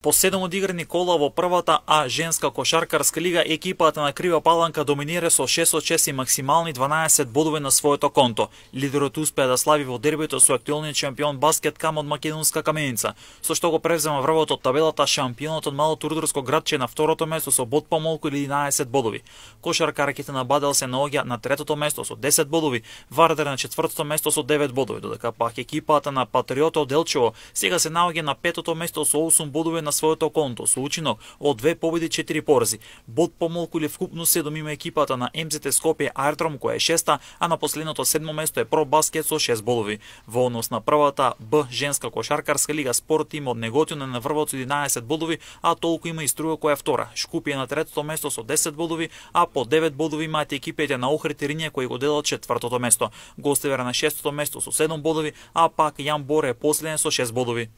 По 7 одиграни кола во првата А женска кошаркарска лига, екипата на Крива Паланка доминира со 6 од 6 и максимални 12 бодови на своето конто. Лидерот успеа да слави во дербито со актуелниот шампион баскет Кам од македонска Каменица, со што го превзема врвот од табелата шампионот од малото рударско градче на второто место со бод помалку или 11 бодови. Кошаркарките на Бадел се наоѓа на третото место со 10 бодови, Вардар на четвртото место со 9 бодови, додека пак екипата на Патриотот од Делчево сега се наоѓа на петото место со 8 бодови на своето конто, со учинок од 2 победи 4 порази. Бод помалку или вкупно 7 има екипата на МЗТ Скопје Аеродром која е шеста, а на последното 7 место е Про Баскет со 6 бодови. Во однос на првата Б женска кошаркарска лига, Спорт тим од Неготино на врвот со 11 бодови, а толку има и Струја која е втора. Шкупје на третото место со 10 бодови, а по 9 бодови имаат екипите на Охрид и Ринје кои го делат четвртото место. Гостивер на шестото место со 7 бодови, а пак Јан Боре е последен со 6 бодови.